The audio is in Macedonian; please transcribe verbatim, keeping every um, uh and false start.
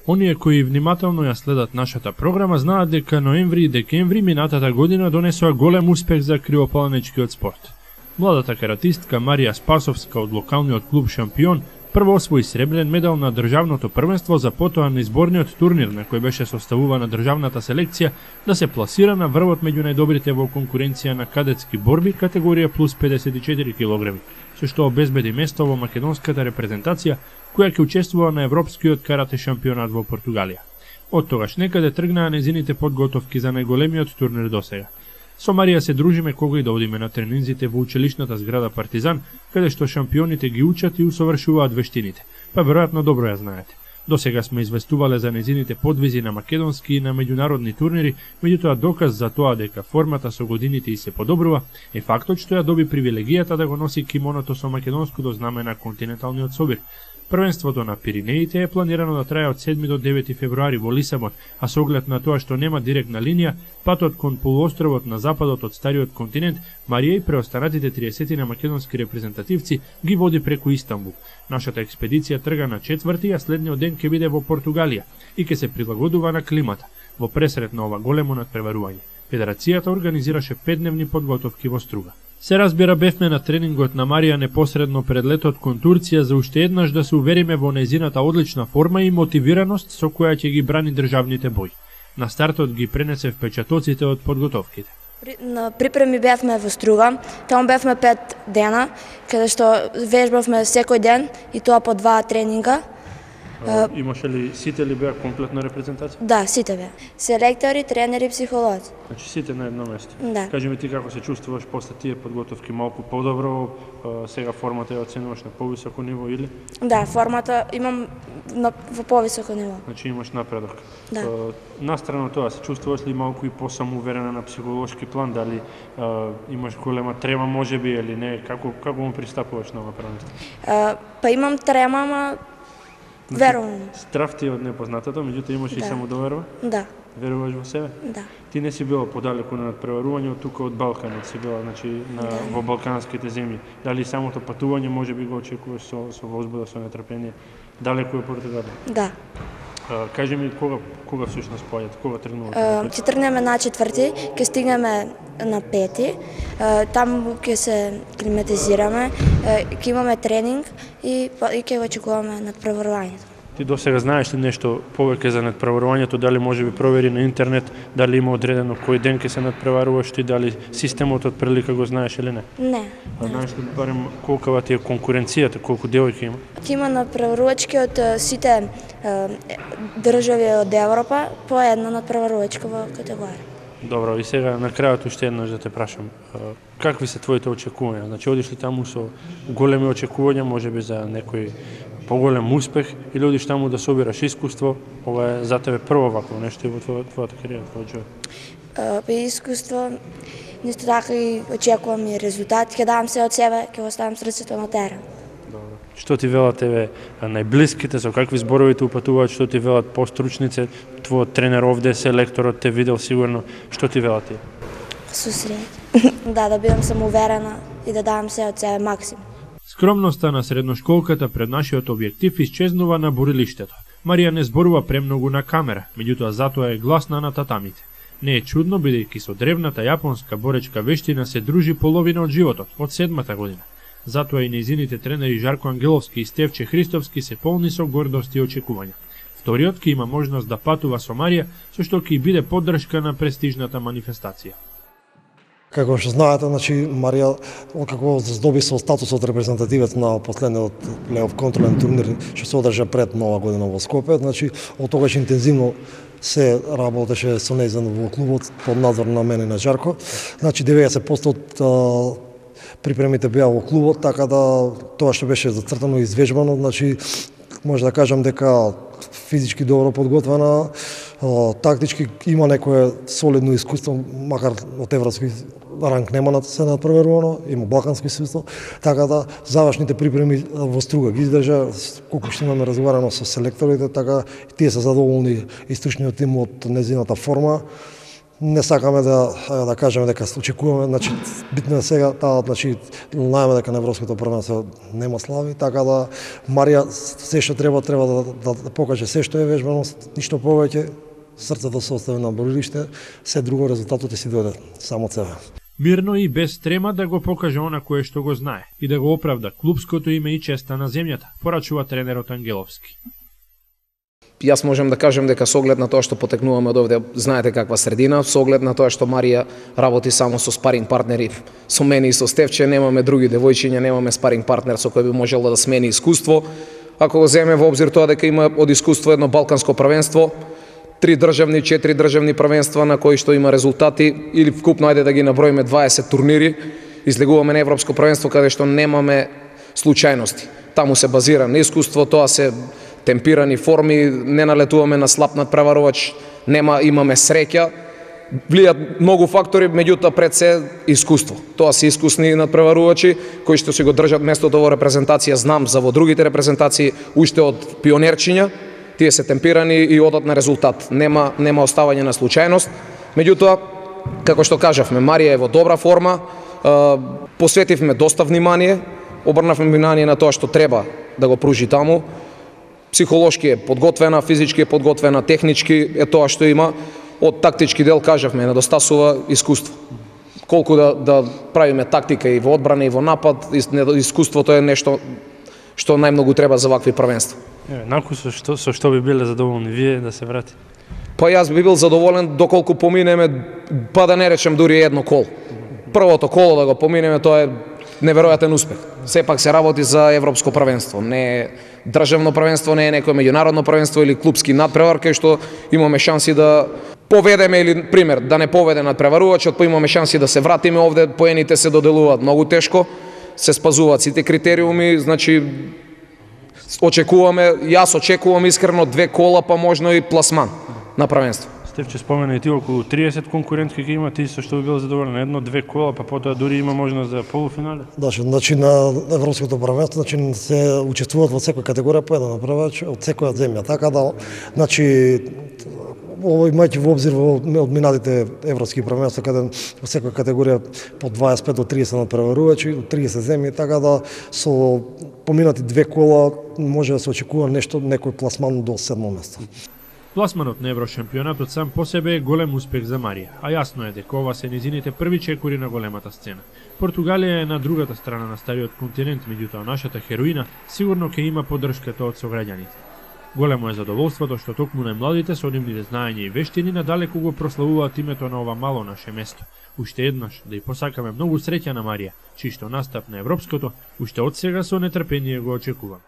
Оние кои внимателно ја следат нашата програма знаат дека ноември и декември минатата година донесоа голем успех за криопаланичкиот спорт. Младата каратистка Марија Спасовска од локалниот клуб Шампион прво освои сребрен медал на државното првенство, за потоа на изборниот турнир на кој беше составувана државната селекција да се пласира на врвот меѓу најдобрите во конкуренција на кадетски борби категорија плюс педесет и четири килограми, со што обезбеди место во македонската репрезентација која ќе учествува на Европскиот карате шампионат во Португалија. Од тогаш некаде тргнаа незините подготовки за најголемиот турнир досега. Со Марија се дружиме кога и да одиме на тренинзите во училишната зграда Партизан, каде што шампионите ги учат и усовршуваат вештините, па веројатно добро ја знаете. До сега сме известувале за незините подвизи на македонски и на меѓународни турнири, меѓутоа доказ за тоа дека формата со годините и се подобрува е фактот што ја доби привилегијата да го носи кимоното со македонското знаме на континенталниот собир. Првенството на Пиринеите е планирано да трае од седми до девети февруари во Лисабон, а со оглед на тоа што нема директна линија, патот кон полуостровот на западот од стариот континент, Марија и преостанатите триесет на македонски репрезентативци ги води преку Истанбул. Нашата експедиција трга на четврти, а следниот ден ќе биде во Португалија и ќе се прилагодува на климата, во пресрет на ова големо надпреварување. Федерацијата организираше петдневни подготовки во Струга. Се разбира, бевме на тренингот на Марија непосредно пред летот кон Турција за уште еднаш да се увериме во незината одлична форма и мотивираност со која ќе ги брани државните бои. На стартот ги пренесе впечатоците од подготовките. На припреми бевме во Струга, таму бевме пет дена, каде што вежбавме секој ден и тоа по два тренинга. А, имаше ли сите ли беа комплетна репрезентација? Да, сите беа. Селектори, тренери, психолози. Значи сите на едно место. Да. Кажи ми ти како се чувствуваш после тие подготовки, малку подобро, сега формата ја оценуваш на повисоко ниво или? Да, формата имам на, во повисоко ниво. Значи имаш напредок. Да. Настрана тоа, се чувствуваш ли малку и посамоуверена на психолошки план, дали а, имаш голема трема можеби или не, како како му пристапуваш на ова првенство? Па имам трема, ама верувам. Страв ти е од непознатото, меѓутоа имаш да. И самодоверба? Да. Веруваш во себе? Да. Ти не си била подалеку на надпреварување, од тука од Балканот си била, значи на да. Во балканските земји. Дали самото патување можеби го очекуваш со со возбуда, со нетрпение? Далеку е Португалија? Да. А, кажи ми кога кога всушност појат, кога тргнувате? Ќе тргнеме на четврти, ќе стигнеме на пети. Таму ќе се климатизираме, ќе имаме тренинг и и ќе го очекуваме надпреварувањето. Ти досега знаеш ли нешто повеќе за надпреварувањето, дали може би провери на интернет, дали има одредено кој ден ќе се надпреваруваш ти, дали системот од прилика го знаеш или не? Не. А знаеш ли барем колкава ти е конкуренцијата, колку девојки има? Ќе има надпреварувачки од сите држави од Европа по една надпреварувачка во категорија. Добро, и сега на крајот уште еднаш да те прашам, какви се твоите очекувања? Значи одиш ли таму со големи очекувања, можеби за некој поголем успех, или одиш таму да собираш искуство? Ова е за тебе прво вакво нешто и во твоја, твојата кариера, твојот живот. Па искуство, нисто така и очекувам и резултат, ќе давам се од себе, ќе оставам срцето на терен. Добро. Што ти велат тебе најблиските, со какви зборови те упатуваат, што ти велат постручници, твојот тренер овде, селекторот те видел сигурно, што ти велат ти? Со среќа. Да, да бидам самоуверена и да давам се од себе максимум. Скромноста на средношколката пред нашиот објектив исчезнува на борилиштето. Марија не зборува премногу на камера, меѓутоа затоа е гласна на татамите. Не е чудно, бидејќи со древната јапонска боречка вештина се дружи половина од животот, од седмата година. Затоа и нејзините тренери Жарко Ангеловски и Стевче Христовски се полни со гордост и очекувања. Вториот ќе има можност да патува со Марија, со што ќе биде поддршка на престижната манифестација. Како што знаете, значи Марија како здоби со статусот репрезентативец на последниот плей-оф контролен турнир што се одржа пред Нова година во Скопје, значи од тогаш интензивно се работеше со нејзин во клубот под надзор на мене и на Жарко. Значи деветдесет проценти од припремите беа во клубот, така да тоа што беше зацртано и извежбано, значи може да кажам дека физички добро подготвена, тактички има некое солидно искуство, макар од европски ранг нема на се надпреварувано, има балкански искуство, така да завршните припреми во Струга ги издржа, колку што имаме разговарано со селекторите, така тие се задоволни и стручниот тим од незината форма. не сакаме да да кажеме дека очекуваме, значи битно е сега таа, значи знаеме дека на европското првенство нема слави, така да Марија се што треба треба да, да, да покаже се што е вежбаност, ништо повеќе, срцето се остави на борилиште, се друго резултатот ќе си дојде само од себе. Мирно и без трема да го покаже она кое што го знае и да го оправда клупското име и честа на земјата, порачува тренерот Ангеловски. Јас можам да кажем дека со оглед на тоа што потекнуваме од овде, знаете каква средина, со оглед на тоа што Марија работи само со спаринг партнери, со мене и со Стевче, немаме други девојчиња, немаме спаринг партнер со кој би можела да смени искуство. Ако го земе во обзир тоа дека има од искуство едно балканско првенство, три државни, четири државни првенства на кои што има резултати, или вкупно ајде да ги наброиме дваесет турнири, излегуваме на европско првенство каде што немаме случајности. Таму се базира на искуство, тоа се темпирани форми, не налетуваме на слаб надпреварувач, нема, имаме среќа, влијат многу фактори, меѓутоа пред се искуство. Тоа се искусни надпреварувачи кои што си го држат местото во репрезентација, знам за во другите репрезентации уште од пионерчиња, тие се темпирани и одат на резултат. Нема нема оставање на случајност. Меѓутоа, како што кажавме, Марија е во добра форма, посветивме доста внимание, обрнавме внимание на тоа што треба да го пружи таму. Психолошки е подготвена, физички е подготвена, технички е тоа што има. Од тактички дел кажавме, недостасува искуство. Колку да, да правиме тактика и во одбрана и во напад, искуството е нешто што најмногу треба за вакви првенства. Е, наку со што, со што би биле задоволни вие да се врати? Па јас би бил задоволен доколку поминеме, па да не речем дури едно коло. Првото коло да го поминеме, тоа е неверојатен успех. Сепак се работи за европско првенство, не е државно првенство, не е некој меѓународно првенство или клупски надпревар, кај што имаме шанси да поведеме или пример да не поведе надпреварувачот, па имаме шанси да се вратиме овде, поените се доделуваат многу тешко, се спазуваат сите критериуми, значи очекуваме, јас очекувам искрено две кола, па можно и пласман на првенство. Стевче спомена и ти околу триесет конкурентки ќе има, ти со што би бил задоволен, едно, две кола, па потоа дури има можност за полуфинале? Да, значи на европското првенство, значи се учествуваат во секоја категорија по еден направач од секоја земја, така да, значи ово имајќи во обзир во од минатите европски првенства каде во секоја категорија по дваесет и пет до триесет надпреварувачи, од триесет земји, така да со поминати две кола може да се очекува нешто, некој пласман до седмо место. Пласманот на Еврошампионатот сам по себе е голем успех за Марија, а јасно е дека ова се низините први чекори на големата сцена. Португалија е на другата страна на стариот континент, меѓутоа нашата хероина сигурно ќе има поддршката од сограѓаните. Големо е задоволството што токму најмладите со нивните знаења и вештини надалеку го прославуваат името на ова мало наше место. Уште еднаш да ја посакаме многу среќа на Марија, чиј што настап на европското уште од сега со нетрпение го очекувам.